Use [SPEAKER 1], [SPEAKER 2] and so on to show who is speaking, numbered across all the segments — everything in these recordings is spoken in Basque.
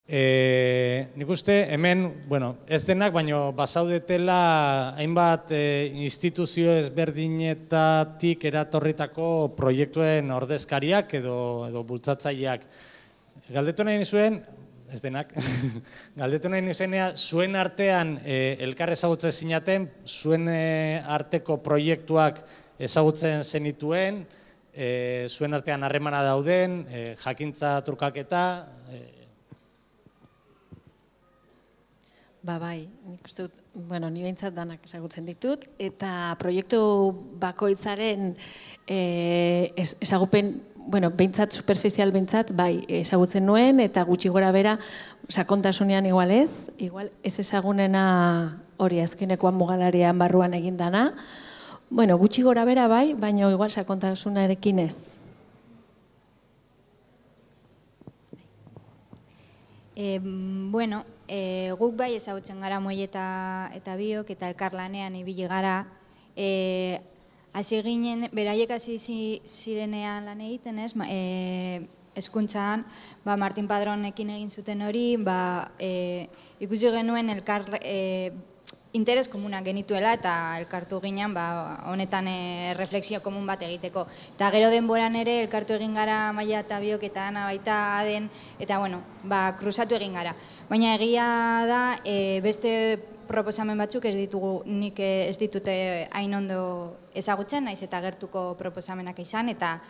[SPEAKER 1] Nik uste hemen, ez denak, baina bazaudetela hainbat instituzio ezberdinetatik eratorritako proiektuen ordezkariak edo bultzatzaileak. Galdetu nahi nizuen, ez denak, galdetu nahi nizuenea, zuen artean elkar ezagutzen zinaten, zuen arteko proiektuak ezagutzen zenituen, zuen artean harremana dauden, jakintza trukaketa.
[SPEAKER 2] Bai, nik uste dut, ni behintzat danak ezagutzen ditut, eta proiektu bakoitzaren ezagupen, behintzat, superficial behintzat, bai, ezagutzen nuen, eta gutxi gora bera, sakontasunean igual ez ezagunena hori azkenekoan mugalarian barruan egindana, gutxi gora bera bai, baina igual sakontasunarekin ez.
[SPEAKER 3] Guk bai ezagutzen gara Moi eta Biok eta elkarlanean ibili gara. Hasi ginen, beraiek hasi zirenean lan egiten, hezkuntzan, Martin Padronekin egin zuten hori, ikusi genuen interes komunak genituela eta elkartu ginen honetan refleksio komun bat egiteko. Eta gero denboran ere elkartu egin gara Maia eta Biok eta Ana baita Aden, eta kruzatu egin gara. Baina egia da, beste proposamen batzuk nik ez ditute hain ondo ezagutzen, naiz eta gertuko proposamenak izan, eta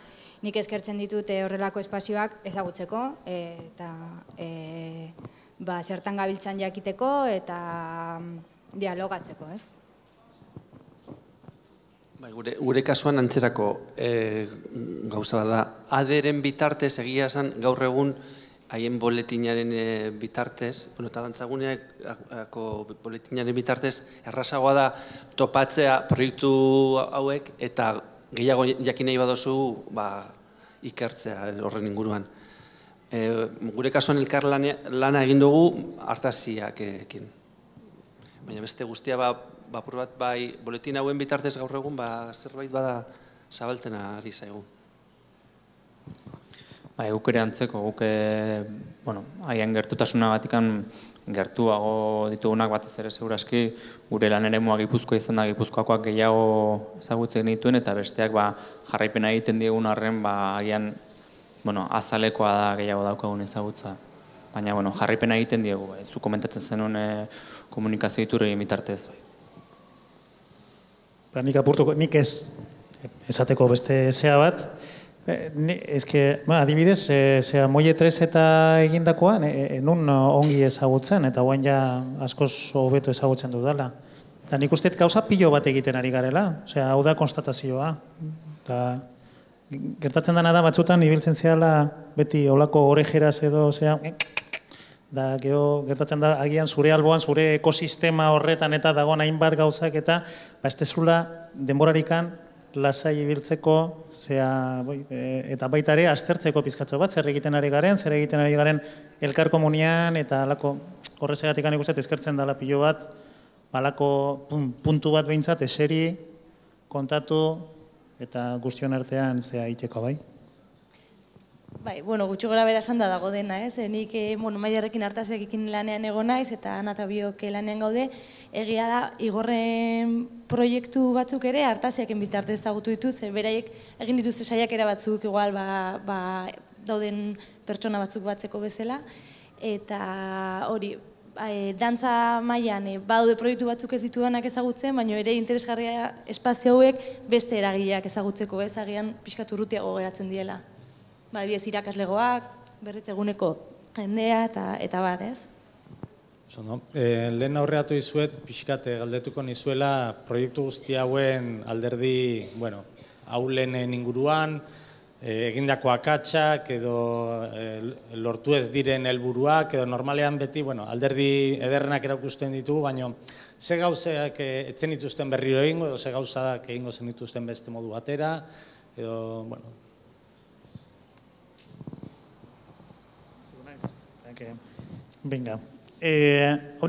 [SPEAKER 3] nik eskertzen ditute horrelako espazioak ezagutzeko, eta zertan gabiltzan jakiteko, eta dialogatzeko, ez?
[SPEAKER 4] Gure kasuan antzerako gauza bat da. Aderen bitartez egia esan gaur egun haien boletinaren bitartez, eta dantzaguneako boletinaren bitartez errazagoa da topatzea proiektu hauek eta gehiago jakin nahi badozu ikertzea horren inguruan. Gure kasuan elkar lana egin dugu Artaziakekin. Baina beste guztia bapur bat boletin hauen bitartez gaur egun zerbait bada zabaltzen ari zaigu.
[SPEAKER 5] Guk ere antzeko, guk haien gertutasuna batikan gertuago ditugunak batez ere seguraski gure lan eremua Gipuzkoa izan da Gipuzkoakoak gehiago ezagutzen dituen eta besteak jarraipena egiten diegun arren agian azalekoa da gehiago daukagun ezagutza. Baina jarraipena egiten diegu, zu komentatzen zenuen komunikazio iturri bitartez.
[SPEAKER 6] Nik apurtuko, nik ez esateko beste zea bat. Adibidez, Moi 3 eta egindakoa, nun ongi ezagutzen, eta guain ja askoz hobeto ezagutzen dudala. Eta nik uste gauza pilo bat egiten ari garela, hau da konstatazioa. Gertatzen dena da batzutan ibiltzen zehala beti olako orejeraz edo, da gertatzen da agian zure alboan, zure ekosistema horretan eta dagoen hainbat gauzak eta ez dezula denborarikan lasai ibiltzeko eta baita ere aztertzeko pizkatxo bat, zer egiten ari garen elkar komunian eta horrezegatik ikusten eskertzen dela pilo bat, puntu bat behintzat eseri, kontatu eta guztion artean itxeko bai.
[SPEAKER 7] Gutxi gora bera esan da dago dena, nik Maiarekin Artaziakekin lanean egon naiz eta Ana eta Biok lanean gaude, egia da igorren proiektu batzuk ere Artaziaken bitartez ezagutu dituz, beraiek egin dituzte saiakera batzuk igual dauden pertsona batzuk batzeko bezala, eta hori, dantza mailan badaude proiektu batzuk ez ditudanak ezagutzen, baina ere interesgarria espazio hauek beste eragileak ezagutzeko, agian pixkat urrutiago geratzen diela. Adibidez irakaslegoak, berriz eguneko jendea eta bat, ez?
[SPEAKER 1] Lehen aurreatu izuet, pixkat galdetuko nizuela proiektu guzti hauen alderdi, haulenen inguruan, egindako akatsak edo lortu ez diren helburuak, edo normalean beti alderdi ederrenak erakusten ditugu, baina ze gauzak etzen dituzten berriro egingo, edo ze gauzak egingo zen dituzten beste modu batera, edo,
[SPEAKER 6] Venga.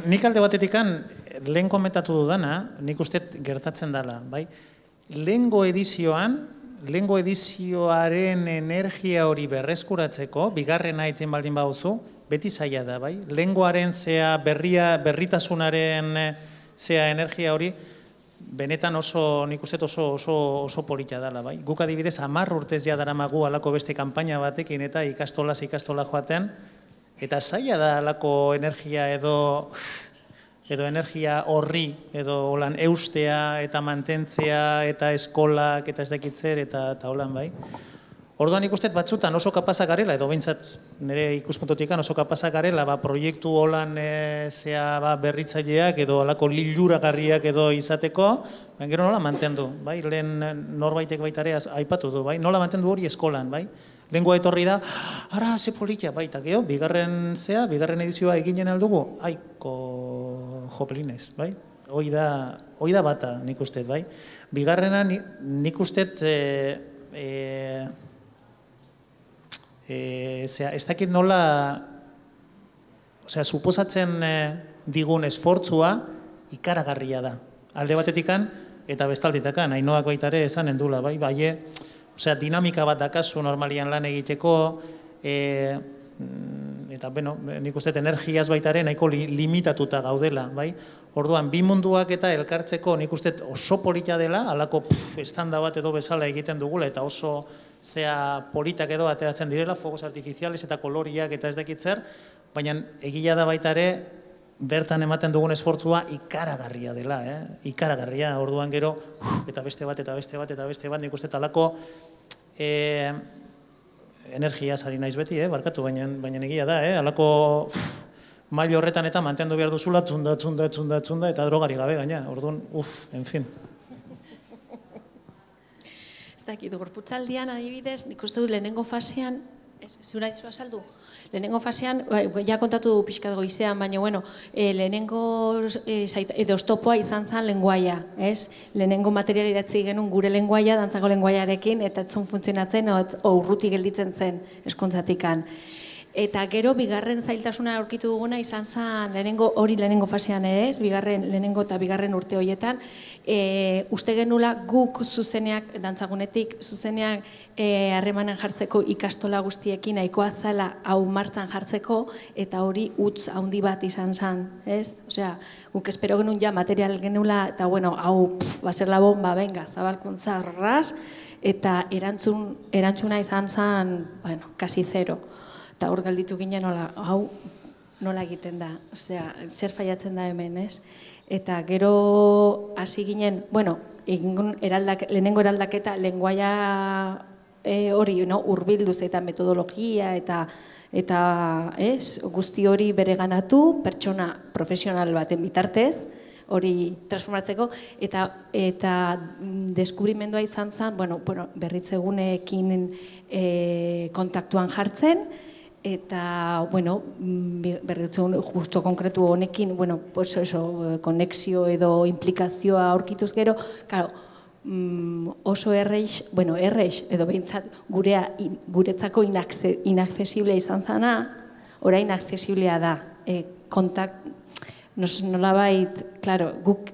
[SPEAKER 6] Nik alde batetikan lehen komentatu dudana, nik uste gertatzen dela, bai? Lehengo edizioaren energia hori berreskuratzeko, bigarrena egiten baldin baduzu, beti zaila da, bai? Lenguaren zea berritasunaren zea energia hori, benetan nik uste oso polita dela, bai? Guk adibidez 10 urtez ja daramagu alako beste kanpaina batekin eta ikastola joaten, eta zaila da alako energia edo energia horri, edo holan eustea eta mantentzea eta eskolak eta ez dakitzer eta holan, bai? Orduan ikusten batzutan oso kapazak garela, edo behintzat nire ikuspuntotik oso kapazak garela, proiektu holan berritzaileak edo alako liluragarriak edo izateko, gero nola mantendu, bai? Lehen norbaitek baitare aipatu du, bai? Nola mantendu hori eskolan, bai? Lengua etorri da, ara, ze politia, bai, eta geho, bigarren edizioa eginen aldugu, aiko joplinez, bai? Hoi da bata, nik uste, bai? Bigarrena, nik uste, ez dakit nola, suposatzen digun esfortzua ikaragarria da. Alde batetikan eta bestalditakan, Ainoak baitare esan endula, bai? Dinamika bat dakazu normalian lan egiteko, eta, nik uste energiaz baitare nahiko limitatuta gaudela, bai? Orduan, bi munduak eta elkartzeko nik uste oso polita dela, alako estanda bat edo bezala egiten dugula, eta oso politak edo ateratzen direla, fogos artifiziales eta koloriak eta ez dakitzer, baina egila da baitare, bertan ematen dugun esfortzua ikaragarria dela, ikaragarria, orduan gero, eta beste bat, eta beste bat, eta beste bat, nik uste talako energia zari naiz beti, barkatu, baina egia da, alako mail horretan eta mantendu behar duzula, txunda, eta drogari gabe gaina, orduan, en fin.
[SPEAKER 2] Ez dakit, gorputzaldian adibidez, nik uste dut lehenengo fasean, zura izu azaldu, lehenengo fasean, ja kontatu pixkat goizean, baina, lehenengo edo oztopoa izan zen lenguaia, ez? Lehenengo material idatzi genuen gure lenguaia, dantzako lenguaiarekin, eta etzun funtzionatzen, urruti gelditzen zen eskontzatikan. Eta gero, bigarren zailtasuna aurkitu duguna izan zen lehenengo fasean ere ez, lehenengo eta bigarren urte horietan, uste genula guk zuzeneak, dantzagunetik, zuzeneak harremanen jartzeko ikastola guztiekin nahikoa zela hau martzan jartzeko, eta hori utz handi bat izan zen, ez? Osea, guk espero genuen ja material genula, eta hau, baser la bomba, venga, zabalkuntza ras, eta erantzuna izan zen, kasi zero. Eta hor galditu ginen hau nola egiten da, osea, zer faiatzen da hemen, ez? Eta gero hasi ginen, lehenengo eraldaketa lenguaia hori hurbilduz eta metodologia eta guzti hori bereganatu, pertsona profesional baten bitartez, hori transformatzeko, eta deskubrimendua izan zen, berritzeguneekin kontaktuan jartzen, eta, berritzen justo konkretu honekin, konexio edo implikazioa aurkituz gero, oso erreix, edo behintzat guretzako inaccesiblea izan zana, orain accesiblea da. Nolabait, guk,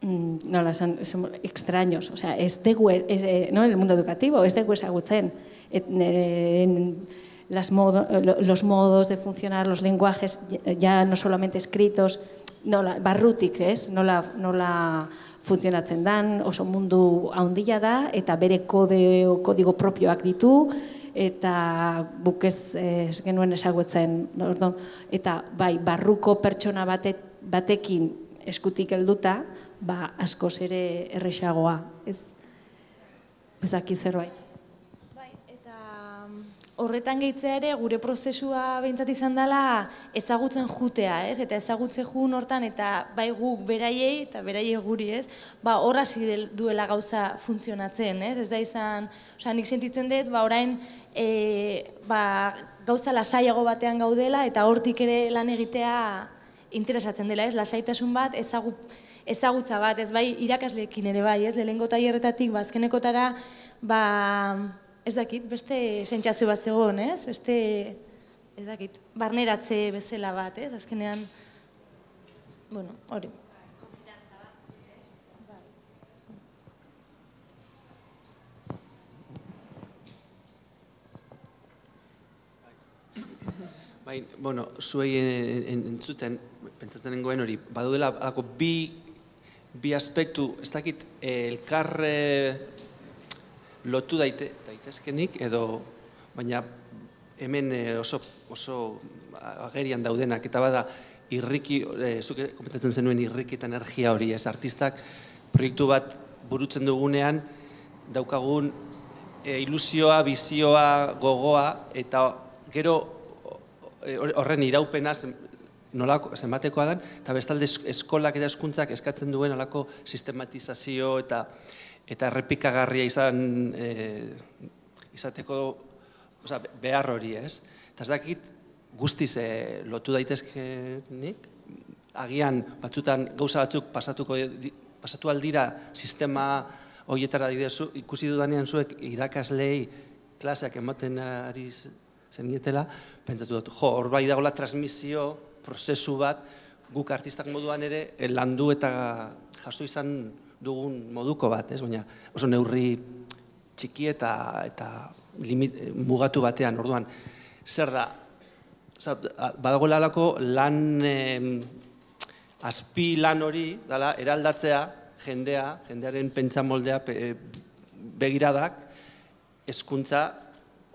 [SPEAKER 2] somos extraños, ez dugu, en el mundo educativo, ez dugu ezagutzen, los modos de funcionar, los lenguajes, ya no solamente escritos, barrutik, nola funtzionatzen dan, oso mundu handia da, eta bere kodigo propioak ditu, eta buk ez genuen ezagutzen, eta barruko pertsona batekin eskutik helduta, askoz ere errexagoa, ez? Bezaki zerbait.
[SPEAKER 7] Horretan gehitzea ere, gure prozesua behintzat izan dela ezagutzen jutea, ez? Eta ezagutze jun hortan, eta bai guk beraiei, eta beraiei guri, ez? Hor hasi duela gauza funtzionatzen, ez? Ez da izan, nik sentitzen dut, orain gauza lasaiago batean gaudela, eta hortik ere lan egitea interesatzen dela, ez? Lasaitasun bat, ezagutza bat, ez? Bai irakasleekin ere bai, ez? Lehenengo tailerretatik, azkenekotara, ez dakit, beste sentsazio bat zegoen, ez? Beste, ez dakit, barneratze bezala bat, ez? Azkenean, hori.
[SPEAKER 4] Bueno, zuei entzuten, pentsatzen nengoen hori, badudela alako bi aspektu, ez dakit, elkar lotu daitezkenik, edo, baina hemen oso agerian daudenak, eta bada, irriki, zuke komentatzen zenuen irriki eta energia hori, ez, artistak proiektu bat burutzen dugunean, daukagun ilusioa, bizioa, gogoa, eta gero horren iraupena zenbatekoa den, eta bestalde eskolak eta hezkuntzak eskatzen duen alako sistematizazio eta errepikagarria izateko behar hori, ez? Eta ez dakit guztiz lotu daitezkenik, agian batzutan gauza batzuk pasatu aldira sistema horietara ikusi dudanean zuek irakaslei klaseak ematen ari zenietela, pentsatu dut, hor bai dagoela transmisio, prozesu bat, guk artistak moduan ere landu eta jaso izan dugun moduko bat, baina oso neurri txiki eta mugatu batean, orduan, zer da, badagoela alako lan, azpi lan hori, eraldatzea, jendearen pentsamoldea, begiradak, hezkuntza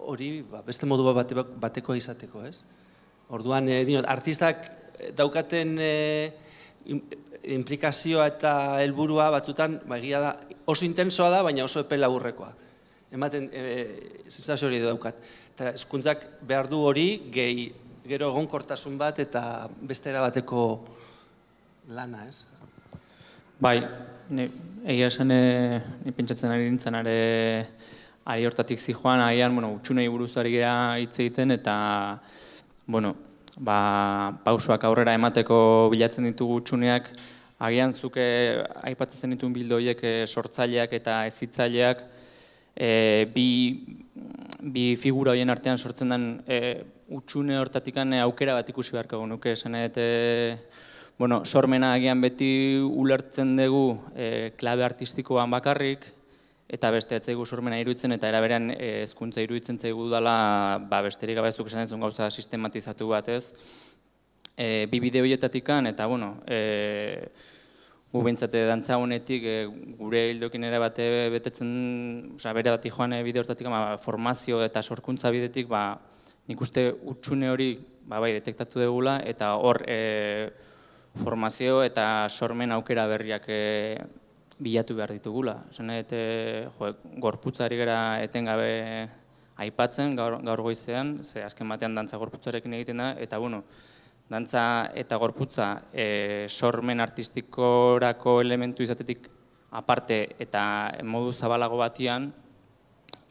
[SPEAKER 4] hori beste modu bateko izateko, ez? Orduan, artistak daukaten implikazioa eta helburua batzutan, egia da, oso intensoa da, baina oso epe laburrekoa. Ematen, sensazio hori daukat. Eta hezkuntzak behar du hori, gero egonkortasun bat eta beste erabateko lana, ez?
[SPEAKER 5] Bai, egia esan pentsatzen ari nintzen ari hortatik zijoan, agian, utxunei buruz ari gara hitz egiten, eta, pausoak aurrera emateko bilatzen ditugu utxuneak, agian zuke aipatzen zenituen bildo horiek sortzaileak eta hezitzaileak, bi figura horien artean sortzen den utxune hortatik aukera bat ikusi beharko nuke, esan sormena agian beti ulertzen dugu klabe artistikoan bakarrik, eta beste etzaigu sormena iruditzen, eta eraberean hezkuntza iruditzen zaigu dela besterik gabezuk esan duzun gauza sistematizatu bat, ez? Bi bide horietatik, eta gu behintzate dantza honetik gure hildokin ere bate betetzen, bere bat joan bide hortatik formazio eta sorkuntza bidetik, nik uste utxune hori detektatu dugula, eta hor formazio eta sormen aukera berriak bilatu behar ditugula. Gorputzari gara etengabe aipatzen gaur goizean, ze azken batean dantza gorputzarekin egiten da, eta dantza eta gorputza sormen artistikorako elementu izatetik aparte eta modu zabalago batian,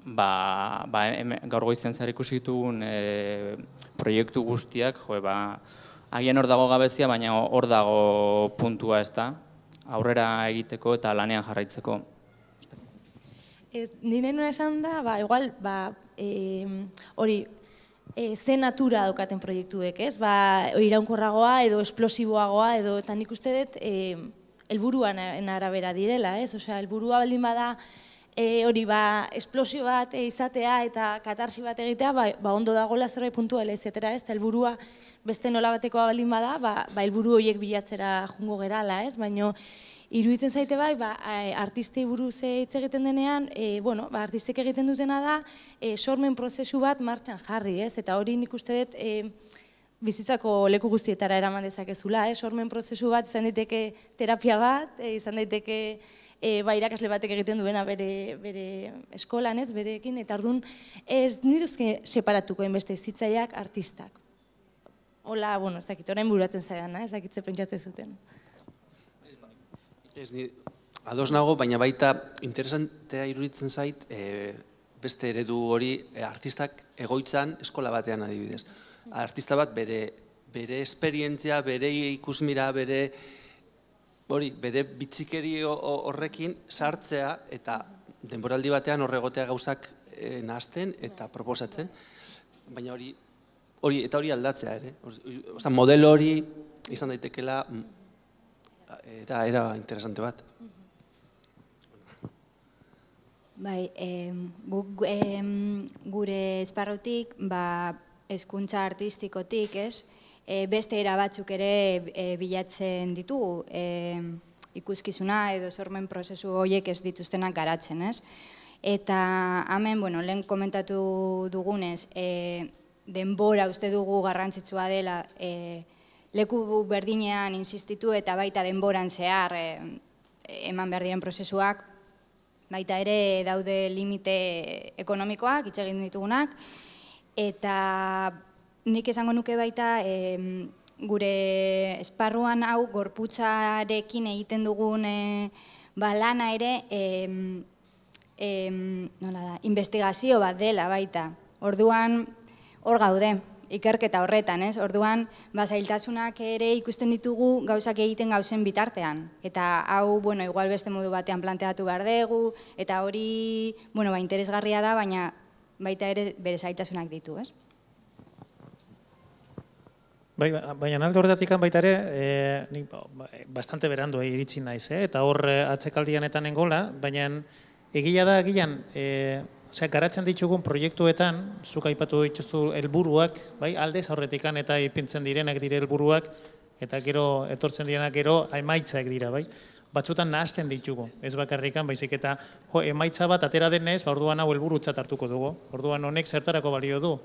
[SPEAKER 5] gaur goizean zer ikusi ditugun proiektu guztiak, agian hor dago gabezia, baina hor dago puntua, ez da, aurrera egiteko eta lanean jarraitzeko.
[SPEAKER 7] Nire nuna esan da, igual, hori, ze natura daukaten proiektuek, ez? Iraunkorragoa edo esplosiboagoa edo, eta nik uste dut, helburuan arabera direla, ez? Osea, helburua baldin bada, hori, esplosio bat izatea eta katarsi bat egitea, ondo dagoela zerbait puntuala izatera, ez? Helburua beste nola batekoa baldin bada, helburu horiek bilatzera jungo gerala, ez? Baina, iruditzen zaite artistei buruz hitz egiten denean, artistek egiten dutena da, sormen prozesu bat martxan jarri, ez? Eta hori nik uste dut bizitzako leku guztietara eraman dezakezula, ez? Sormen prozesu bat izan daiteke terapia bat, izan daiteke irakasle batek egiten duena bere eskolan, ez? Berekin, eta orduan ez nituzke separatuko enbeste hezitzaileak artistak. Hola, ez dakit, orain buratzen zaidan, ez dakit ze pentsatzen zuten.
[SPEAKER 4] Ados nago, baina baita interesantea iruditzen zait beste eredu hori artistak egoitzan eskola batean adibidez. Artista bat bere esperientzia, bere ikusmira, bere bitxikeri horrekin sartzea eta denboraldi batean horregotea gauzak nahazten eta proposatzen, baina hori aldatzea ere. Modelo hori izan daitekela era interesante bat.
[SPEAKER 3] Bai, gure esparrutik hezkuntza artistikotik, ez? Beste era batzuk ere bilatzen ditugu, ikuskizuna edo sormen prozesu horiek ez dituztenak garatzen, ez? Eta hemen, lehen komentatu dugunez, denbora uste dugu garrantzitsua dela, leku berdinean insistitu eta baita denboran zehar eman behar diren prozesuak, baita ere daude limite ekonomikoak, hitz egin ditugunak, eta nik esango nuke baita gure esparruan hau gorputzarekin egiten dugun lana ere investigazio bat dela baita. Orduan hor gaude, ikerketa horretan, ez? Orduan zailtasunak ere ikusten ditugu gauzak egiten gauzen bitartean. Eta hau, igual beste modu batean planteatu behar dugu, eta hori, interesgarria da, baina baita ere bere zailtasunak ditu, ez?
[SPEAKER 6] Baina alde horretatik baita ere, bastante berandu iritsi naiz, eta hor atzekaldianetan engola, baina egia da, garatzen ditugun proiektuetan, zuk aipatu dituzu helburuak, aldez aurretikan eta ipintzen direnak dire helburuak, eta gero etortzen direnak gero emaitzak dira, batzutan nahasten ditugu, ez bakarrikan, baizik eta emaitza bat atera denez, orduan hau helburutzat hartuko dugu, orduan honek zertarako balio du,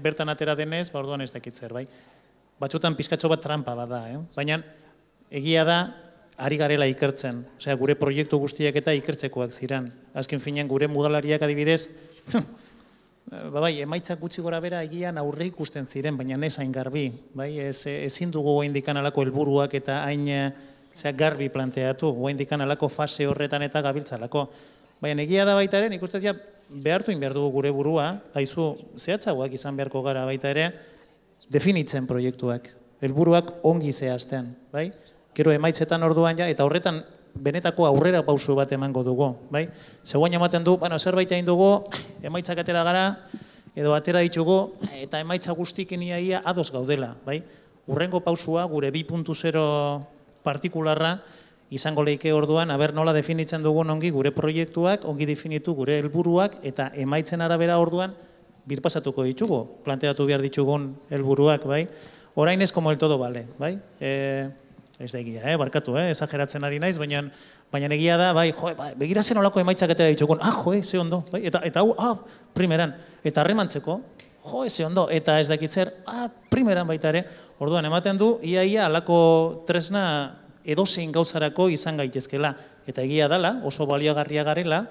[SPEAKER 6] bertan atera denez, orduan ez dakit zer, batzutan pizkatxo bat trampa bat da, baina egia da, ari garela ikertzen, gure proiektu guztiak eta ikertzekoak ziren. Azken finean gure mudalariak adibidez, emaitzak gutxi gora bera egian aurre ikusten ziren, baina ez hain garbi. Ezin dugu oaindikan alako helburuak eta hain garbi planteatu, oaindikan alako fase horretan eta gabiltzalako. Baina egia da baita ere, nik uste behartu behar dugu gure burua, haizu zehatzagoak izan beharko gara baita ere, definitzen proiektuak, helburuak ongi zehazten, Gero emaitzetan orduan eta horretan benetako aurrera pausu bat emango dugu, Zegoen ematen du, zerbait egin dugu, emaitzak atera gara, edo atera ditugu, eta emaitza guztikin iaia ados gaudela, Urrengo pausua, gure 2.0 partikularra, izango leike orduan, nola definitzen dugun ongi gure proiektuak, ongi definitu gure helburuak, eta emaitzen arabera orduan, birpasatuko ditugu, planteatu behar ditugun helburuak, Orain ez como el todo vale, ez da egia, barkatu, exageratzen ari naiz, baina egia da, begira zen olako emaitzak atera ditugun, ze ondo, eta hau, primeran, eta harremantzeko, ze ondo, eta ez dakit zer, primeran baita ere, orduan ematen du, ia alako tresna edozein gauzarako izan gaitezkela, eta egia dela, oso baliagarria garela,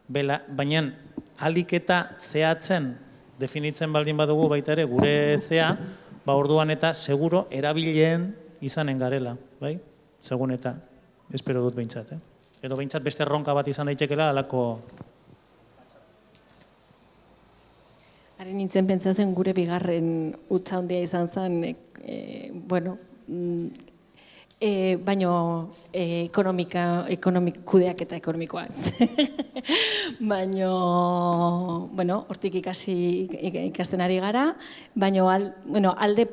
[SPEAKER 6] baina alik eta zehatzen definitzen baldin badugu baita ere gure zea, orduan eta seguro erabileen izanen garela, segun eta, espero dut behintzat, edo behintzat beste erronka bat izan daitekela alako...
[SPEAKER 2] Haren nintzen pentsatzen gure bigarren utza handia izan zen, baino kudeak eta ekonomikoa ez. Baino, hortik ikasten ari gara, baino alde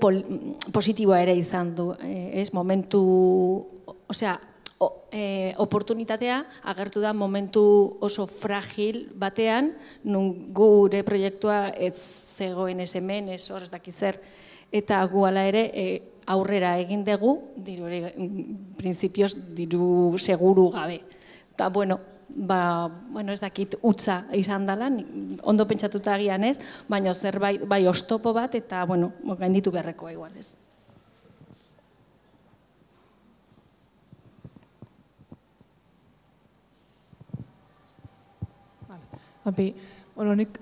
[SPEAKER 2] positiboa ere izan du, ez, momentu, oportunitatea agertu da momentu oso fragil batean, nun gure proiektua ez zegoen ez hemen, ez hor ez dakizer, eta gu ala ere aurrera egin dugu, prinsipioz diru seguru gabe. Eta, ez dakit utza izan dela, ondo pentsatuta agian ez, baina zerbait, oztopo bat, eta, gainditu beharrekoa igual ez.
[SPEAKER 8] Nik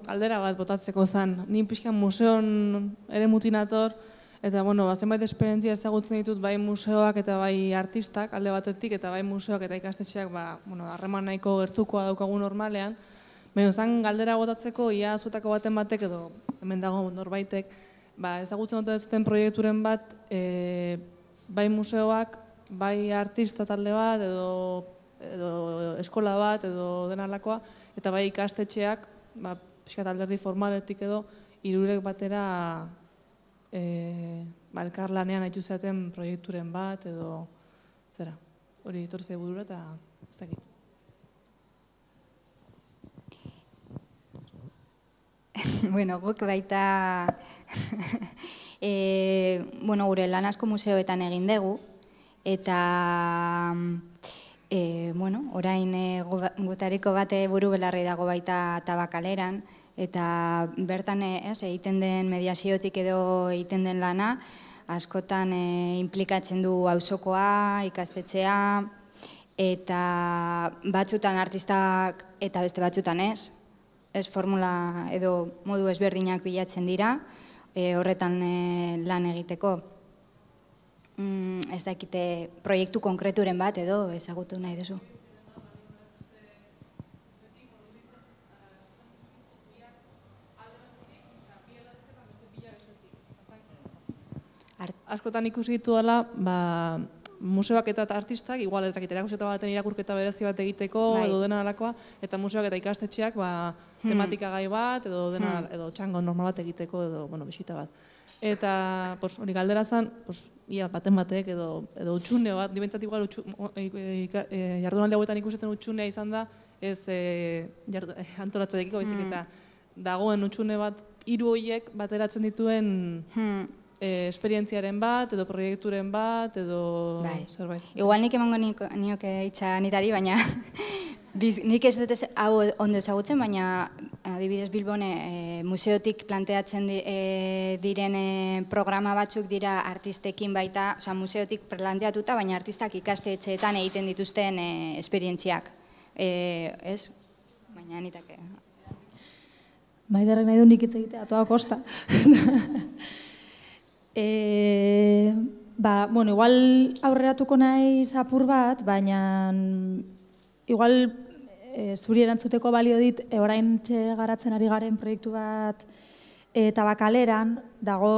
[SPEAKER 8] aldera bat botatzeko zen, ni pixkan museon ere mutinator, eta zenbait esperientzia ezagutzen ditut bai museoak eta bai artistak alde batetik, eta bai museoak eta ikastetxeak harreman nahiko gertukoa daukagu normalean, baina zen galdera botatzeko ia zuetako baten batek edo hemen dago norbaitek, ezagutzen dute zuten proiekturen bat, bai museoak, bai artista talde bat edo eskola bat edo denalakoa, eta bai ikastetxeak, pixkat alderdi formaletik edo, hirurek batera elkarlanean haitu zaten proiekturen bat edo zera, hori etorzei burura eta ezakit.
[SPEAKER 3] Bueno, guk baita gure lan asko museoetan egin dugu, eta orain gutariko bate buru belarri dago baita Tabakaleran, eta bertan egiten den mediaziotik edo egiten den lana, askotan implikatzen du auzokoa, ikastetxea, eta batzutan artistak eta beste batzutan ez. Ez formula edo modu ezberdinak bilatzen dira, horretan lan egiteko. Ez dakite proiektu konkreturen bat edo ezagutu nahi duzu.
[SPEAKER 8] Askotan ikusi dituela, museoak eta artistak, igual ez dakit, erakusketa baten irakurketa berezi bat egiteko, edo dena dalakoa, eta museoak eta ikastetxeak tematika gai bat, edo txango normal bat egiteko, edo bisita bat. Eta hori galdera zen, ia baten batek edo utxune bat, dibentzat igual jardunaldi hauetan ikusten utxunea izan da, ez antolatzarekiko baizik eta dagoen utxune bat, hiru horiek bateratzen dituen esperientziaren bat, edo proiekturen bat, edo zerbait.
[SPEAKER 3] Igual nik emango nioke hitza nitari, baina nik ez dut hau ondo ezagutzen, baina adibidez Bilbon museotik planteatzen diren programa batzuk dira artistekin baita, oza, museotik planteatuta, baina artistak ikastetxeetan egiten dituzten esperientziak. Ez? Baina nitake.
[SPEAKER 9] Maiderrek nahi du nik hitz egitea, toa kosta. Igual aurreratuko naiz apur bat, baina igual zuri erantzuteko balio dit orain garatzen ari garen proiektu bat Tabakaleran, dago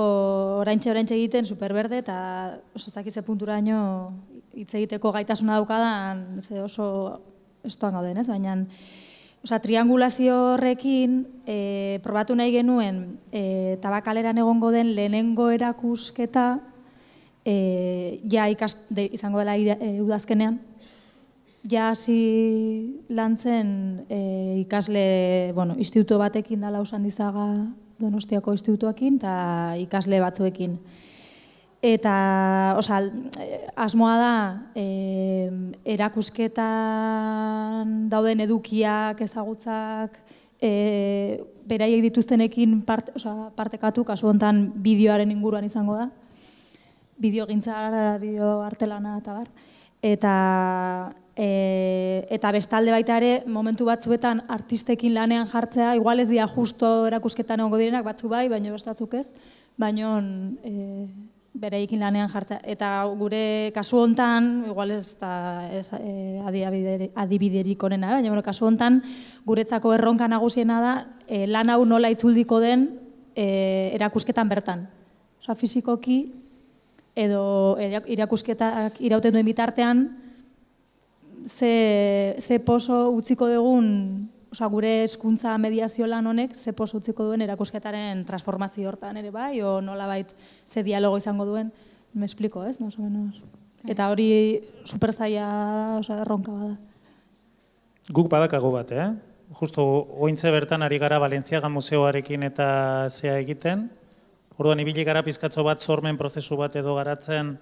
[SPEAKER 9] oraintxe egiten Superberde, eta oso zakize punturaino hitz egiteko gaitasuna daukadan oso estoan gauden, ez? Baina triangulazio horrekin probatu nahi genuen Tabakaleran egongo den lehenengo erakusketa izango dela udazkenean, hasi lan zen ikasle, instituto batekin dala Usandizaga Donostiako institutuakin, eta ikasle batzuekin. Eta, asmoa da, erakusketan dauden edukiak, ezagutzak, beraiek dituztenekin partekatu, kasu honetan bideoaren inguruan izango da. Bideogintza, bideo artelana eta bar. Eta bestalde baita ere, momentu batzuetan artistekin lanean jartzea, igual ez dira justo erakusketan egongo direnak, batzu bai, baina bestatzuk ez, baina bereikin lanean jartzea. Eta gure kasu hontan, igual ez da adibiderik onena, baina kasu hontan guretzako erronka nagusiena da lan hau nola itzuldiko den erakusketan bertan. Osa, fizikoki edo erakusketak irauten duen bitartean ze poso utziko dugun, gure hezkuntza mediazio lan honek ze poso utziko duen erakusketaren transformazio hortan ere bai, o nolabait ze dialogo izango duen, me explico, ez? Más o menos. Eta hori superzaila, erronka bada.
[SPEAKER 6] Guk badakago bat, Justo ointze bertan ari gara Valentziaga museoarekin eta zea egiten. Orduan ibili gara pizkatzo bat sormen prozesu bat edo garatzen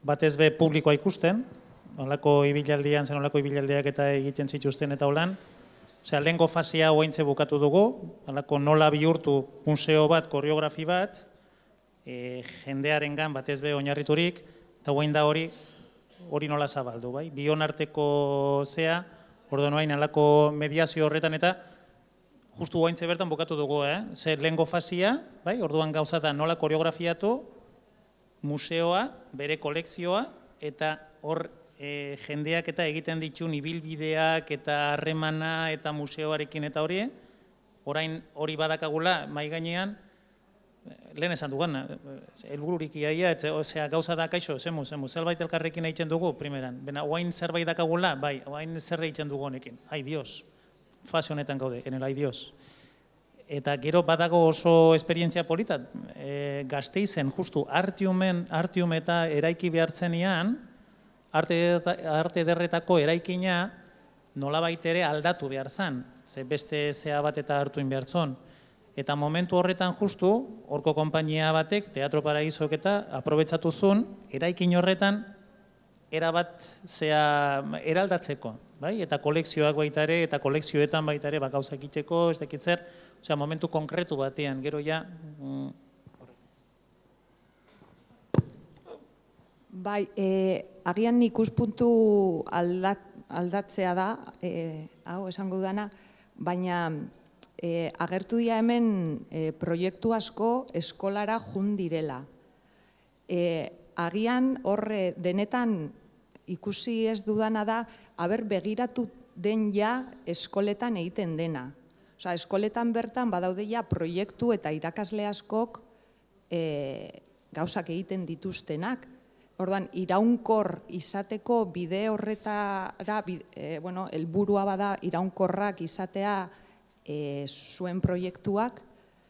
[SPEAKER 6] batez be publikoa ikusten, nolako ibilaldian, zen nolako ibilaldiak eta egiten zituzten eta holan. Osea, lehenko fasia ointze bukatu dugu, nola bihurtu museo bat, koreografi bat, jendearengan batez be oinarriturik, eta oain da hori nola zabaldu, bai? Bion arteko zea, orduan oain alako mediazio horretan eta justu oaintze bertan bukatu dugu, Ze lehenko fasia, bai? Orduan gauza da nola koreografiatu museoa, bere kolekzioa, eta hor jendeak eta egiten ditun ibilbideak eta harremana eta museoarekin eta hori, orain hori badakagula mai gainean, lehen esan dugan, helbururik iaia, gauza da kaixo, zemu, zerbait elkarrekin egiten dugu, primeran, oain zerbait dakagula, bai, oain zerre egiten dugu honekin, ai dios, fase honetan gaude, enel ai dios. Eta gero badago oso esperientzia polita, Gasteizen, justu, Artium eta eraiki behartzenian, arte ederretako eraikina nolabait ere aldatu behar zen, ze beste zea bat eta hartuin behar zon. eta momentu horretan justu, horko konpainia batek, Teatro Paraisok eta aprobetsatu zuen, eraikin horretan, erabat eraldatzeko, bai? Eta kolekzioak baita ere, eta kolekzioetan baita ere, gauzak itxeko, ez dakitzer, osea, momentu konkretu batean, gero ja...
[SPEAKER 10] Bai, agian ikuspuntu aldatzea da, hau esango dana, baina agertu dira hemen proiektu asko eskolara jun direla. Agian horre denetan ikusi ez dudana da, haber begiratu den ja eskoletan egiten dena. Osa, eskoletan bertan badaude ja proiektu eta irakasle askok gauzak egiten dituztenak. Orduan, iraunkor izateko bide horretara, helburua bada iraunkorrak izatea zuen proiektuak,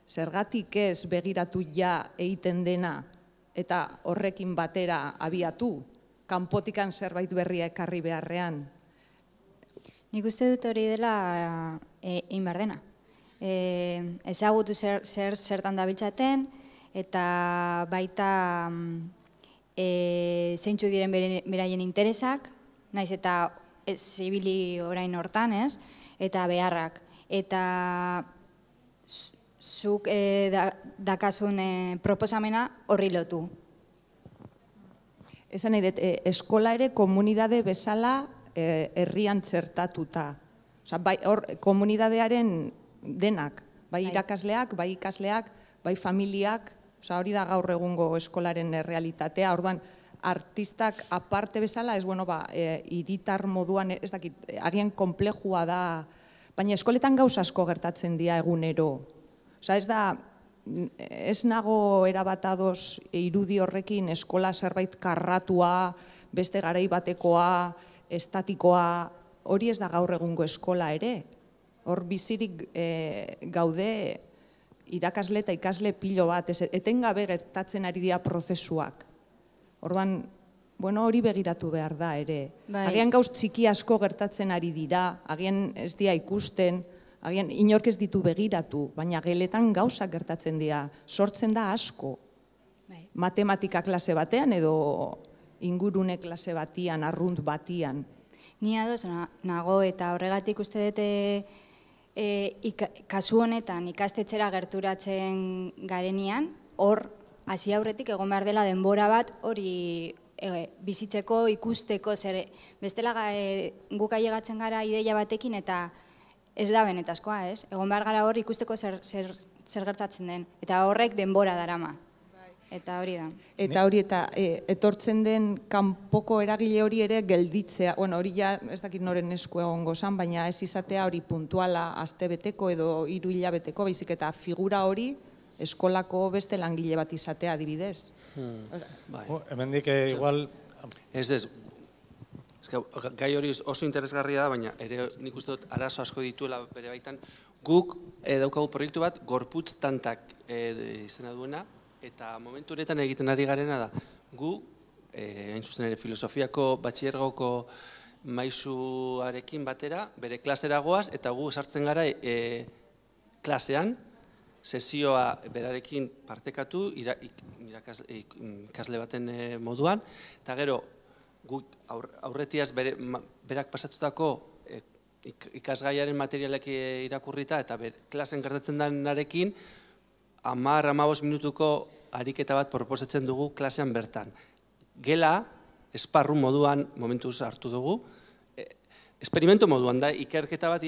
[SPEAKER 10] zergatik ez begiratu ja egiten dena eta horrekin batera abiatu, kanpotikan zerbait berria ekarri beharrean.
[SPEAKER 3] Nik uste dut hori dela egin behar dena. Ezagutu zertan dabiltzaten eta baita zeintzu diren beraien interesak, naiz eta zibili orain hortan, ez? Eta beharrak. Eta zuk dakazun proposamena horri lotu.
[SPEAKER 10] Esan nahi dut, eskola ere komunidade bezala herrian txertatuta. Komunidadearen denak, bai irakasleak, bai ikasleak, bai familiak, hori da gaur egungo eskolaren realitatea. Orduan, artistak aparte bezala, hiritar moduan, ez dakit, agian konplejua da, baina eskoletan gauza asko gertatzen dira egunero. Ez nago erabatadoz irudi horrekin eskola zerbait karratua, beste garai batekoa, estatikoa, hori ez da gaur egungo eskola ere. Hor bizirik gaude irakasle eta ikasle pilo bat, etengabe gertatzen ari dira prozesuak. Orduan, hori begiratu behar da ere. Agian gauz txiki asko gertatzen ari dira, agian ez dira ikusten, agian inork ez ditu begiratu, baina geletan gauzak gertatzen dira, sortzen da asko. Matematika klase batean edo ingurune klase batian, arrunt batian.
[SPEAKER 3] Ni ados nago eta horregatik uste dute kasu honetan ikastetxera gerturatzen garenean, hor hasi aurretik egon behar dela denbora bat hori bizitzeko, ikusteko, bestela guk ailegatzen gara ideia batekin eta ez da benetazkoa, ez? Egon behar gara hor ikusteko zer gertatzen den, eta horrek denbora darama. Eta hori da.
[SPEAKER 10] Eta hori eta etortzen den kanpoko eragile hori ere gelditzea, hori ja ez dakit noren esku egongo zan, baina ez izatea hori puntuala astebeteko edo 3 hilabeteko, baizik eta figura hori eskolako beste langile bat izatea adibidez.
[SPEAKER 1] Hemendik igual...
[SPEAKER 4] Ez, gai hori oso interesgarria da, baina ere nik uste dut arazo asko dituela bere baitan. Guk daukagu proiektu bat, Gorputz Tantak izena duena, eta momentu honetan egiten ari garena da, gu, hain zuzen ere filosofiako batxillergoko maisuarekin batera, bere klasera goaz, eta gu sartzen gara klasean, sesioa berarekin partekatu, ikasle baten moduan, eta gero, gu aurretiaz berak pasatutako ikasgaiaren materialek irakurrita, eta klasen gertatzen denarekin, 10-15 minutuko ariketa bat proposatzen dugu klasean bertan. Gela, esparru moduan momentuz hartu dugu, esperimento moduan da, ikerketa bat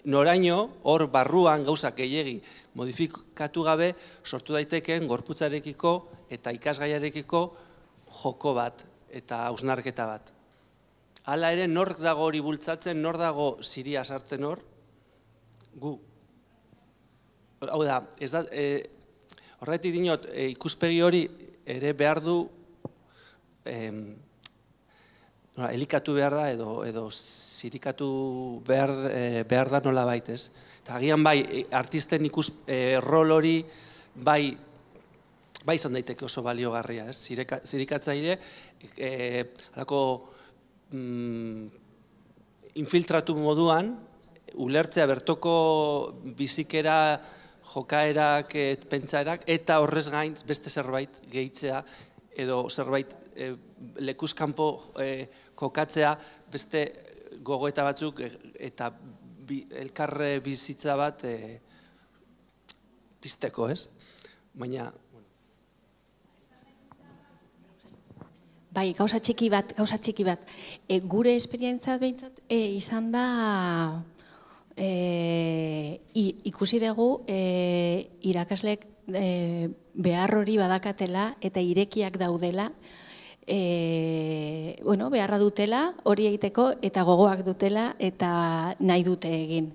[SPEAKER 4] noraino hor barruan gauzak gehiegi modifikatu gabe sortu daitekeen gorputzarekiko eta ikasgaiarekiko joko bat eta hausnarketa bat. Hala ere, nork dago hori bultzatzen, nor dago ziria sartzen hor, gu. Hau da, horretik dinot, ikuspegi hori ere behar du, elikatu behar da edo zirikatu behar da nola baitez. Eta agian bai, artisten rol hori bai izan daiteke oso baliogarria, zirikatzaile, halako infiltratu moduan, ulertzea bertoko bizikera jokaerak, pentsaerak, eta horrez gain beste zerbait gehitzea, edo zerbait lekuzkanpo kokatzea, beste gogoeta batzuk eta elkarre bizitza bat pizteko, ez? Baina...
[SPEAKER 2] Bai, gauza txiki bat. Gure esperientzia behintzat izan da, ikusi dugu irakasleek behar hori badakatela eta irekiak daudela, beharra dutela hori egiteko eta gogoak dutela eta nahi dute egin.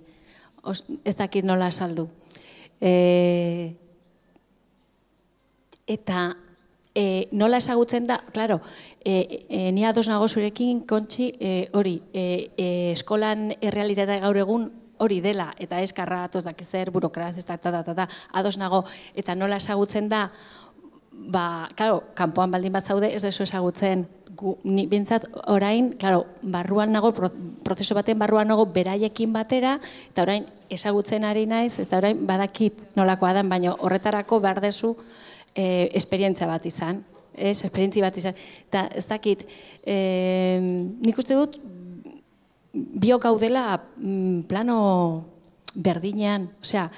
[SPEAKER 2] Ez dakit nola saldu. Eta nola ezagutzen da, klaro, ni ados nago zurekin, Kontxi, hori, eskolan errealitatea gaur egun hori dela, eta eskarra atoz dakizer, burokraz, ados nago, eta nola ezagutzen da, klaro, kanpoan baldin bat zaude, ez dezu ezagutzen, ni bintzat orain, klaro, barruan nago, prozesu baten barruan nago beraiekin batera, eta orain ezagutzen ari naiz, eta orain badakit nolakoa dan, baina horretarako behar dezu esperientzia bat izan, eta ez dakit, nik uste dut, biok gaudela plano berdinean, osea,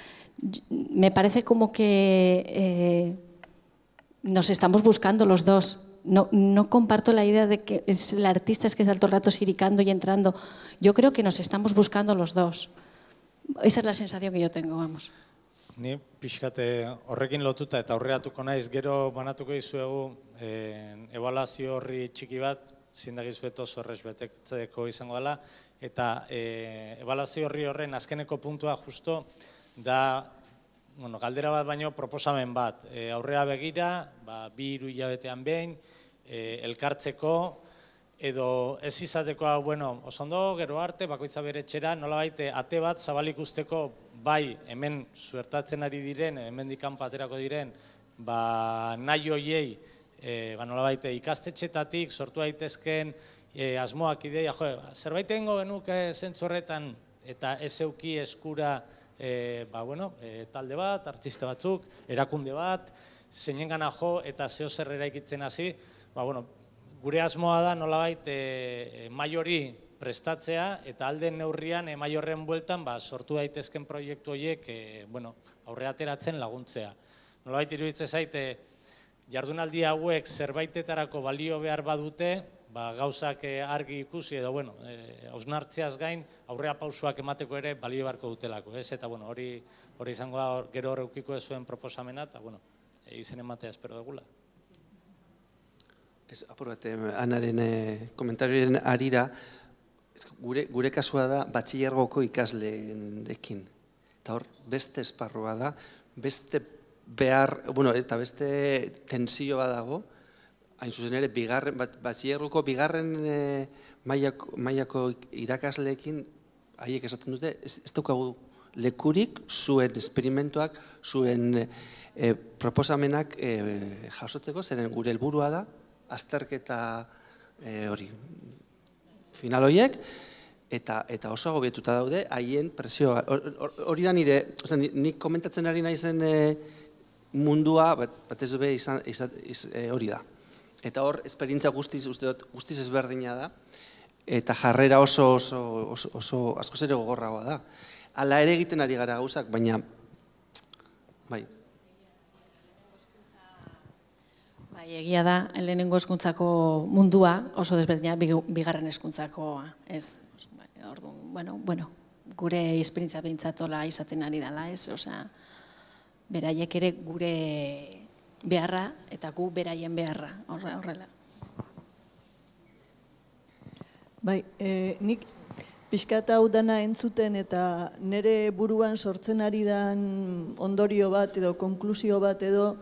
[SPEAKER 2] me parece como que nos estamos buscando los dos. No comparto la idea de que es el artista es que está todo el rato siricando y entrando. Yo creo que nos estamos buscando los dos. Esa es la sensación que yo tengo, vamos.
[SPEAKER 1] Ni pixkate horrekin lotuta eta aurreratuko naiz, gero banatuko dizuegu ebaluazio horri txiki bat, zindagizuet oso horrez betetzeko izango dela, eta ebaluazio horren azkeneko puntua justo da, galdera bat baino proposamen bat, aurrera begira, 2-3 hilabetean behin, elkartzeko, edo ez izateko, oso ondo, gero arte, bakoitza bere etxera, nolabait ate bat zabalik usteko, bai, hemen zuertatzen ari diren, hemen dikan paterako diren, nahi hoiei, nolabait ikastetxetatik, sortu daitezken asmoak ideia, zerbait egingo genuke zentzu horretan, eta ez euki eskura, talde bat, artista batzuk, erakunde bat, zeinengana jo eta zeo zer eraikitzen hasi, gure asmoa da nolabait mai hori prestatzea eta alden neurrian mai horren bueltan sortu daitezken proiektu horiek aurre ateratzen laguntzea. Nolabait iruditzen zaite jardunaldi hauek zerbaitetarako balio behar badute, gauzak argi ikusi edo hausnartzeaz gain aurrea pausoak emateko ere balio beharko dutelako. Eta hori izango da gero horreukiko ezuen proposamena eta izen ematea espero dugula.
[SPEAKER 4] Apur bat, Anaren komentarioaren arira, gure kasua da batxilergoko ikasleekin. Eta hor, beste esparrua da, beste behar, eta beste tensio bat dago, hain zuzen ere, batxilergoko bigarren mailako irakasleekin, haiek esaten dute, ez daukagu lekurik zuen esperimentuak, zuen proposamenak jasotzeko, zeren gure helburua da, azterketa hori, final horiek, eta oso agobietuta daude, haien presioa. Hori da nire, nik komentatzen ari naizen mundua, batez be hori da. Eta hor, esperientzia guztiz ezberdina da, eta jarrera oso askoz ere gogorragoa da. Hala ere egiten ari gara gauzak, baina, bai.
[SPEAKER 2] Egia da, lehenengo hezkuntzako mundua oso desberdina bigarren hezkuntzakoa, ez? Gure esperientzia behintzatola izaten ari dela, ez? Osea, beraiek ere gure beharra eta gu beraien beharra, horrela.
[SPEAKER 11] Bai, nik pixkat hau dana entzuten eta nire buruan sortzen ari dan ondorio bat edo konklusio bat edo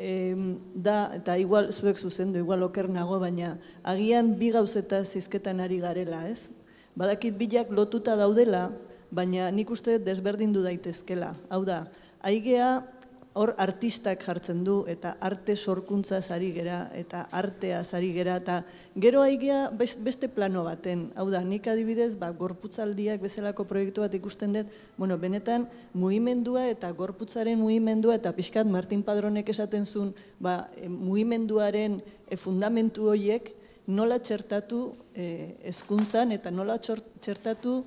[SPEAKER 11] da, eta igual zuek zuzendu, igual oker nago, baina agian bi gauzeta zizketan ari garela, ez? Badakit bilak lotuta daudela, baina nik uste desberdindu daitezkela. Hau da, aigea hor artistak jartzen du, eta arte sorkuntzaz ari gera, eta arteaz ari gera, eta gero aigea beste plano baten. Hau da, nik adibidez, gorputzaldiak bezalako proiektu bat ikusten dut, benetan, mugimendua eta gorputzaren mugimendua, eta pixkat Martin Padronek esaten zuen, mugimenduaren fundamentu horiek nola txertatu hezkuntzan eta nola txertatu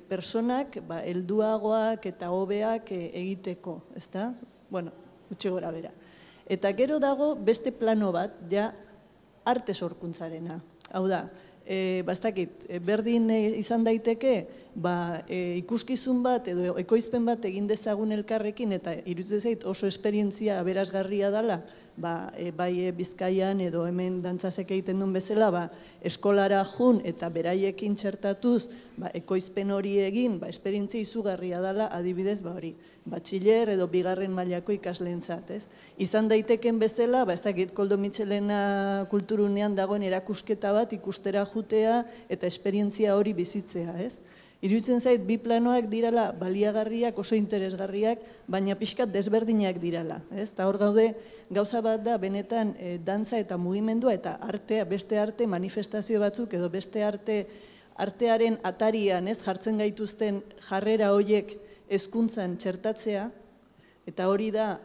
[SPEAKER 11] personak helduagoak eta hobeak egiteko, ezta? Bueno, gutxi gora bera. Eta gero dago beste plano bat, ja arte sorkuntzarena. Hau da, bastakit, berdin izan daiteke, ikuskizun bat edo ekoizpen bat egin dezagun elkarrekin eta iruditzen zait oso esperientzia aberasgarria dela, bai Bizkaian edo hemen dantzasek egiten duen bezala, eskolara jun eta beraiekin txertatuz, ekoizpen hori egin, esperientzia izugarria dela, adibidez, hori, batxiller edo bigarren mailako ikasleentzat, ez? Izan daiteken bezala, ez dakit Koldo Mitxelena kulturunean dagoen erakusketa bat ikustera jutea eta esperientzia hori bizitzea, ez? Iruditzen zait, bi planoak dirala baliagarriak, oso interesgarriak, baina pixkat desberdinak dirala. Eta hor gaude, gauza bat da, benetan, dantza eta mugimendua eta artea, beste arte manifestazio batzuk edo beste artearen atarian jartzen gaituzten jarrera horiek hezkuntzan txertatzea, eta hori da,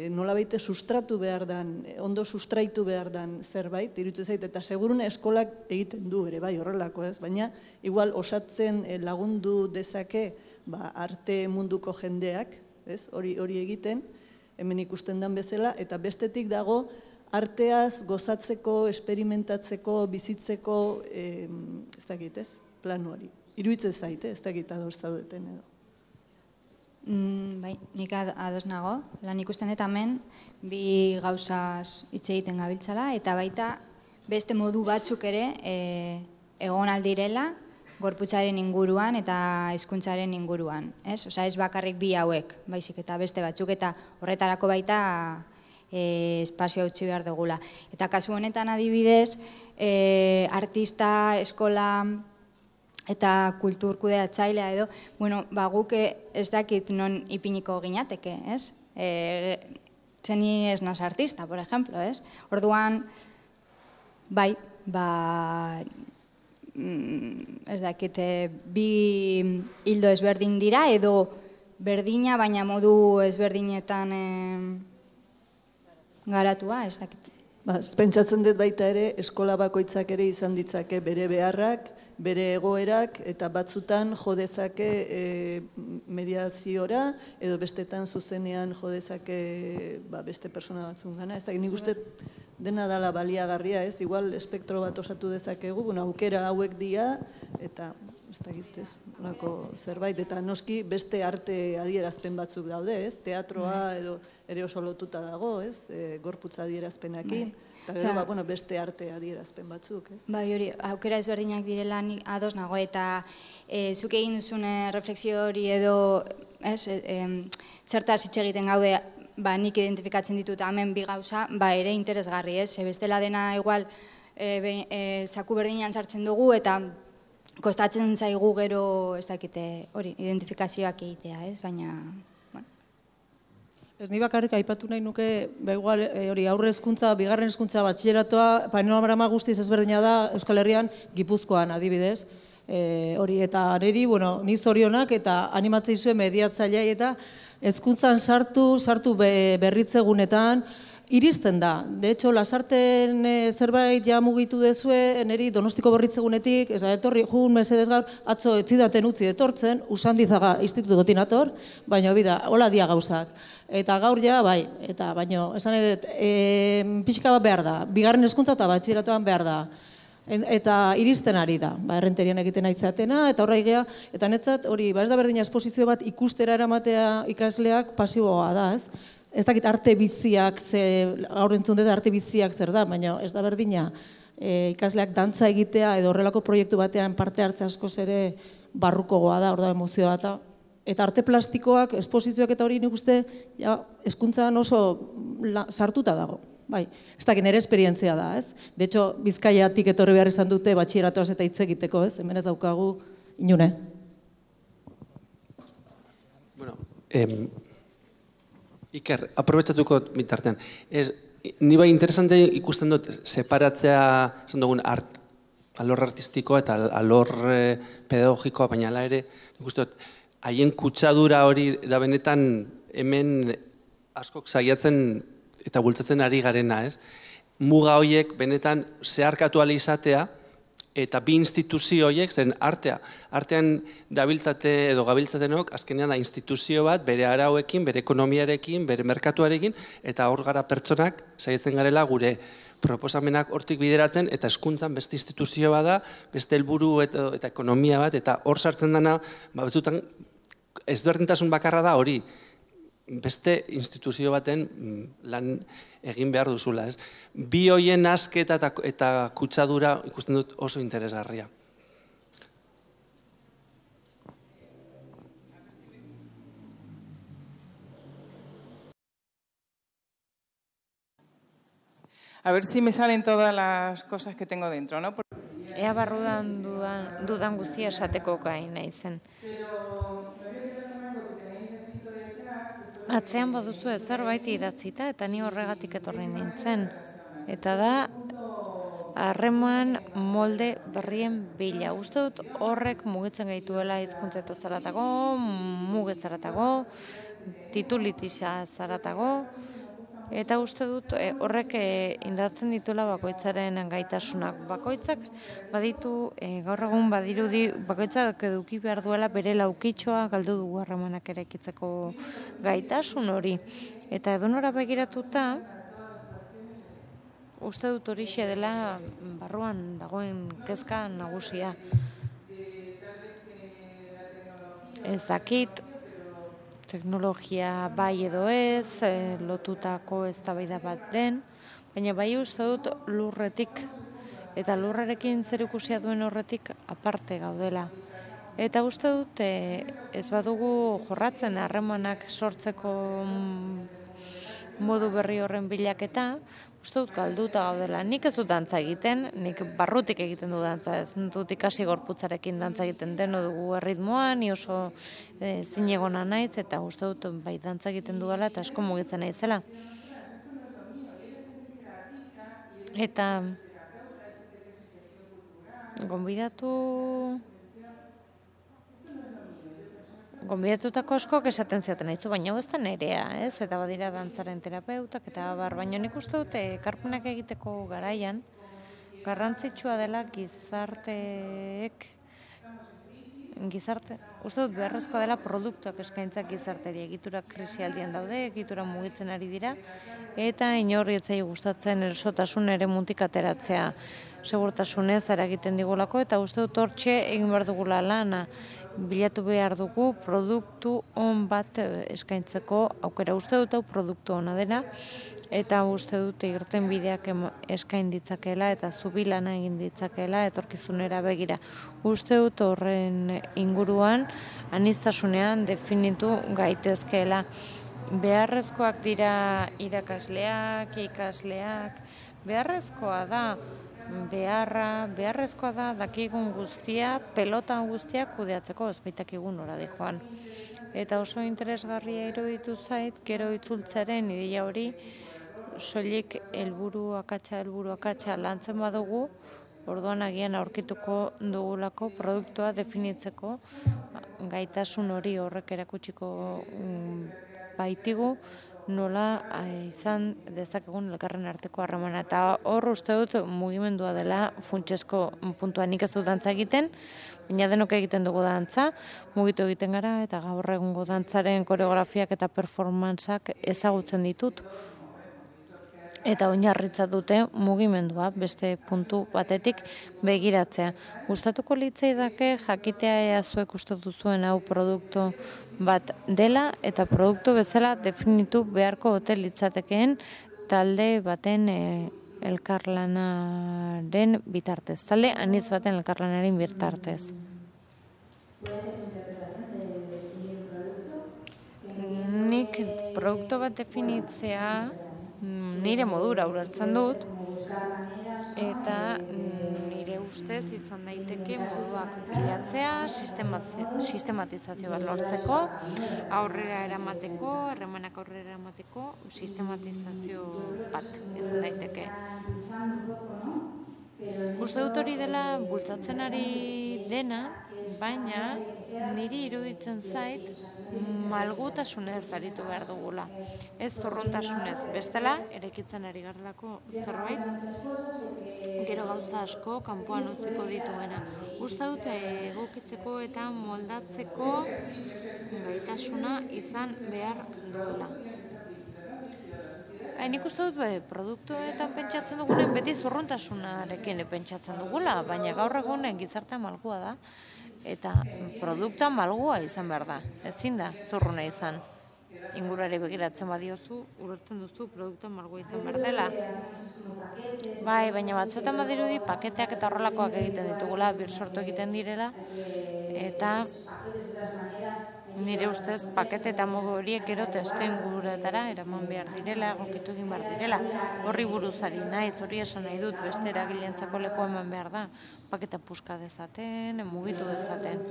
[SPEAKER 11] nolabait sustratu behar dan, ondo sustraitu behar dan zerbait, iruditzen zait, eta segurune eskolak egiten du ere, bai horrelako ez, baina igual osatzen lagundu dezake arte munduko jendeak, hori egiten, hemen ikusten dan bezala, eta bestetik dago arteaz gozatzeko, experimentatzeko, bizitzeko, ez dakit ez, planu hori. Iruditzen zait, ez dakit ados zaudeten edo.
[SPEAKER 3] Bai, nik ados nago. Lan ikusten dut hemen, bi gauzaz hitz egiten gabiltzala, eta baita beste modu batzuk ere egon aldirela gorputzaren inguruan eta hizkuntzaren inguruan. Osa ez bakarrik bi hauek, baizik eta beste batzuk, eta horretarako baita espazioa utzi behar dugula. Eta kasu honetan adibidez, artista, eskola eta kulturkudeatzailea edo, guk ez dakit non ipiniko ginateke, ez? Zeni ez naz artista, por ejemplo, ez? Orduan, bai, ez dakit, bi hildo ezberdin dira, edo berdina, baina modu ezberdinetan garatua, ez dakit.
[SPEAKER 11] Pentsatzen dut baita ere, eskola bakoitzak ere izan ditzake bere beharrak, bere egoerak, eta batzutan jodezake mediaziora, edo bestetan zuzenean jodezake beste persona batzun gana. Ez da, nik uste dena dala baliagarria, ez? Igual espektro bat osatu dezakegu, aukera hauek dira, eta ez da egitez, zerbait, eta noski beste arte adierazpen batzuk daude, ez? Teatroa edo ere oso lotuta dago, ez? Gorputza adierazpenakin, eta gero beste arte adierazpen batzuk, ez?
[SPEAKER 3] Bai, hori, aukera ezberdinak direla nik ados nago, eta zuk egin duzun refleksio hori edo, zertaz hitz egiten gaude, nik identifikatzen ditut hemen bi gauza, ere interesgarri, ez? Bestela dena igual zaku berdinean sartzen dugu, eta kostatzen zaigu gero, ez dakite, hori, identifikazioak egitea, ez? Baina,
[SPEAKER 12] Ez ni bakarrik aipatu nahi nuke, hori aurre hezkuntza, bigarren hezkuntza batxileratoa, panorama guztiz ezberdina da Euskal Herrian, Gipuzkoan adibidez. Hori, eta niri, ni zorionak eta animatzei zuen mediatzailea eta hezkuntzan sartu berritzegunetan, iristen da. De hecho, Lasarten zerbait ja mugitu dezue, niri Donostiko berritzegunetik, etorri, jugun mesedez gaur, atzo etzidaten utzi etortzen, Usandizaga institutukotin ator, baina bida, hola dia gauzak. Eta gaur ja, bai, eta baino, esan edet, pixka bat behar da, bigarren hezkuntza eta batxilleratoan behar da. Eta iristen ari da, errenterian egiten aitzeatena, eta horra igea, eta netzat, hori, ez da berdina esposizio bat ikustera eramatea ikasleak pasiboa da, ez? Ez dakit arte biziak, gaur entzun dut arte biziak zer da, baina ez da berdina ikasleak dantza egitea edo horrelako proiektu batean parte hartze askoz ere barrukogoa da, hor da emozioa eta arte plastikoak, esposizioak eta hori nik uste hezkuntzan oso sartuta dago. Bai, ez dakit nire esperientzia da, ez? De hecho, Bizkaiatik etorri behar izan dute batxilleratoaz eta hitz egiteko, ez? Hemen ez daukagu inune.
[SPEAKER 4] Bueno, Iker, aprobetsatuko bitartean. Ni bai interesante ikusten dut separatzea, esan dugun, alor artistikoa eta alor pedagogikoa, baina ala ere, ikusten dut, haien kutsadura hori da benetan hemen askok saiatzen eta bultzatzen ari garena, ez? Muga horiek benetan zeharkatu ahal izatea eta bi instituzio horiek, zen artean dabiltzate edo gabiltzatenok, azkenean da instituzio bat, bere arauekin, bere ekonomiarekin, bere merkatuarekin, eta hor gara pertsonak saiatzen garela gure proposamenak hortik bideratzen, eta hezkuntzan beste instituzio bada, beste helburu eta ekonomia bat, eta hor sartzen dena, batzutan ezberdintasun bakarra da hori, beste instituzio baten lan egin behar duzula. Bi hoien asketa eta kutsadura ikusten dut oso interesgarria.
[SPEAKER 13] A ver si me salen todas las cosas que tengo dentro, ¿no?
[SPEAKER 14] Ea barrudan dudan guztia esateko gai naizen. Atzean baduzu zerbait idatzita eta ni horregatik etorri nintzen. Eta da, harreman molde berrien bila. Uste dut horrek mugitzen gaituela hizkuntza zaratago, mugetzaratako, titulitisa zaratago, eta uste dut horrek indartzen dituela bakoitzaren gaitasunak. Bakoitzak baditu, gaur egun badirudi, bakoitzak eduki behar duela bere laukitxoa galdu dugu harremanak eraikitzeko gaitasun hori. Eta edonora begiratuta, uste dut horixe dela barruan dagoen kezka nagusia. Ez dakit, teknologia bai edo ez, lotutako eztabaida bat den, baina bai uste dut lurretik eta lurrarekin zerikusia duen horretik aparte gaudela. Eta uste dut ez badugu jorratzen harremanak sortzeko modu berri horren bilaketa, uste dut galduta gaudela. Nik ez dut dantza egiten, nik barrutik egiten du dantza, ez dut ikasi gorputzarekin dantza egiten deno dugu erritmoa, ni oso zinegona naiz, eta uste dut bai dantza egiten dudala eta asko mugitzen naizela. Eta gonbidatutako askok esaten ziaten aizu, baina ez da nerea, ez? Eta badira dantzaren terapeutak eta baina nik uste dute ekarpenak egiteko garaian garrantzitsua dela uste dut beharrezkoa dela produktuak eskaintzak gizarteri. Egitura krisialdian daude, egitura mugitzen ari dira, eta inorri etzai gustatzen erosotasun ere muntik ateratzea segurtasunez eragiten digulako, eta uste dut hortxe egin behar dugula lana. Bilatu behar dugu produktu on bat eskaintzeko aukera. Uste dut hau produktu ona dela, eta uste dut irten bideak eskain ditzakeela eta zubilana egin ditzakeela etorkizunera begira. Uste dut horren inguruan aniztasunean definitu gaitezkeela. Beharrezkoak dira irakasleak, ikasleak, beharrezkoa da dakigun guztia, pelotan guztia kudeatzeko ez baitakigun nora dijoan. Eta oso interesgarria iruditu zait, gero itzultzaren ideia hori, soilik helburu akatsa lantzen badugu, orduan agian aurkituko dugulako produktua definitzeko gaitasun hori horrek erakutsiko baitigu, nola izan dezakegun elkarren arteko harremana. Eta hor uste dut mugimendua dela funtsezko puntua. Nik ez dut dantza egiten, baina denok egiten dugu dantza, mugitu egiten gara, eta gaur egungo dantzaren koreografiak eta performantzak ezagutzen ditut. Eta oinarritza dute mugimendua beste puntu batetik begiratzea. Gustatuko litzaidake jakitea ea zuek uste duzuen hau produktu bat dela eta produktu bezala definitu beharko ote litzatekeen talde baten elkarlanaren bitartez. Talde anitz baten elkarlanaren bitartez. Nik produktu bat definitzea nire modura ulertzen dut, eta nire ustez izan daiteke moduak bilatzea, sistematizazio bat lortzeko, aurrera eramateko, harremanak aurrera eramateko, sistematizazio bat izan daiteke. Uste dut hori dela bultzatzen ari dena, baina niri iruditzen zait malgutasunez aritu behar dugula. Ez zorrontasunez, bestela, erekitzen ari garelako zerbait, gero gauza asko kanpoan utziko dituena. Uste dut egokitzeko eta moldatzeko gaitasuna izan behar duela. Nik uste dut produktuetan pentsatzen dugunen beti zorrontasunarekin pentsatzen dugula, baina gaur egunen gizartea malgua da, eta produktua malgua izan behar da, ezin da zorruna izan. Ingurari begiratzen badiozu, ulertzen duzu produktua malgua izan behar dela. Bai, baina batzuetan badirudi paketeak eta horrelakoak egiten ditugula, birsortu egiten direla, eta nire ustez pakete eta modu horiek gero testu inguruetara eraman behar direla, egokitu egin behar direla. Horri buruzari naiz, hori esan nahi dut, beste eragilentzako leku eman behar da. Paketa puska dezaten, mugitu dezaten.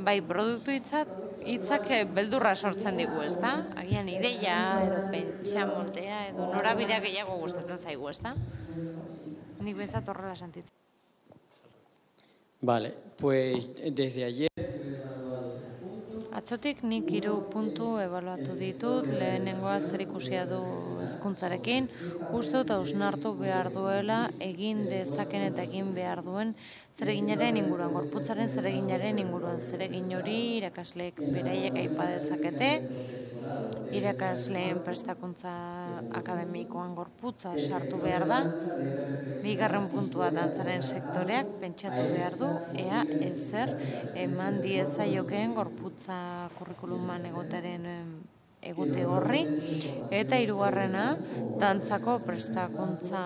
[SPEAKER 14] Bai, produktu hitzak beldurra sortzen digu, ezta? Agian ideia, edo pentsa moldea, edo norabidea gehiago gustatzen zaigu, ezta? Nik behintzat horrela sentitzen.
[SPEAKER 15] Vale, pues desde ayer...
[SPEAKER 14] Atzotik nik 3 puntu ebaluatu ditut, lehenengoa zer ikusia du hezkuntzarekin, uste dut hausnartu behar duela egin dezaken eta egin behar duen zereginaren inguruan, gorputzaren zereginaren inguruan, zeregin hori irakasleek beraiek aipa dezakete, irakasleen prestakuntza akademikoan gorputza sartu behar da, bigarren puntua dantzaren sektoreak pentsatu behar du, ea ezer eman diezaiokeen gorputza kurrikuluman egote horri, eta hirugarrena dantzako prestakuntza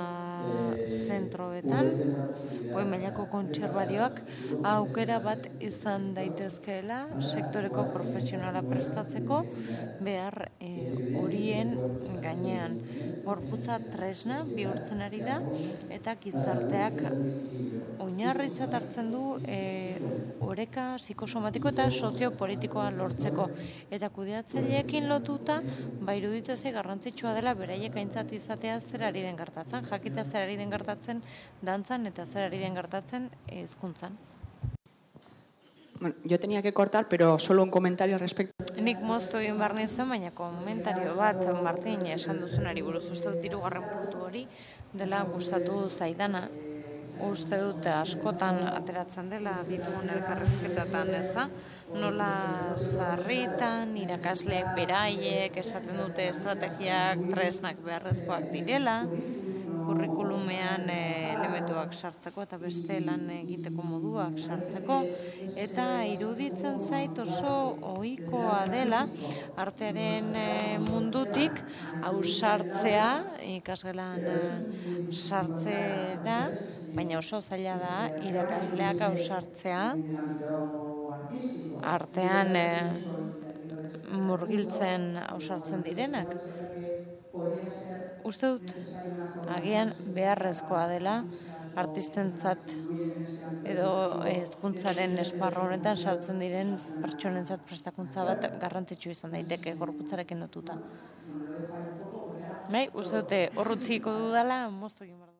[SPEAKER 14] zentroetan, goi mailako kontserbarioak aukera bat izan daitezkeela sektoreko profesionala prestatzeko behar horien gainean. Gorputza tresna bihurtzen ari da eta gizarteak oinarritzat hartzen du oreka psikosomatiko eta soziopolitikoa lortzeko. Eta kudeatzaileekin lotuta, iruditzen zait garrantzitsua dela beraiek aintzat izatea zer ari den gertatzen, jakitea zer ari den gertatzen dantzan eta zer ari den gertatzen hezkuntzan.
[SPEAKER 16] Bueno, yo tenía que cortar, pero solo un comentario respecto.
[SPEAKER 14] Nik moztu egin behar nintzen, baina komentario bat, Martin, esan duzunari buruz, uste dut 3. puntu hori dela gustatu zaidana. Uste dut askotan ateratzen dela ditugun elkarrizketatan, ez da? Nola sarritan, irakasleek beraiek esaten dute estrategiak, tresnak beharrezkoak direla, kurrikulumean elementuak sartzeko eta beste lan egiteko moduak sartzeko, eta iruditzen zait oso ohikoa dela artearen mundutik ausartzea, ikasgelan sartzera, baina oso zaila da irakasleak ausartzea artean murgiltzen ausartzen direnak. Uste dut, agian beharrezkoa dela artistentzat edo hezkuntzaren esparru honetan sartzen diren pertsonentzat prestakuntza bat garrantzitsu izan daiteke gorputzarekin lotuta. Uste dute horrutziko dudala, moztu egin behar.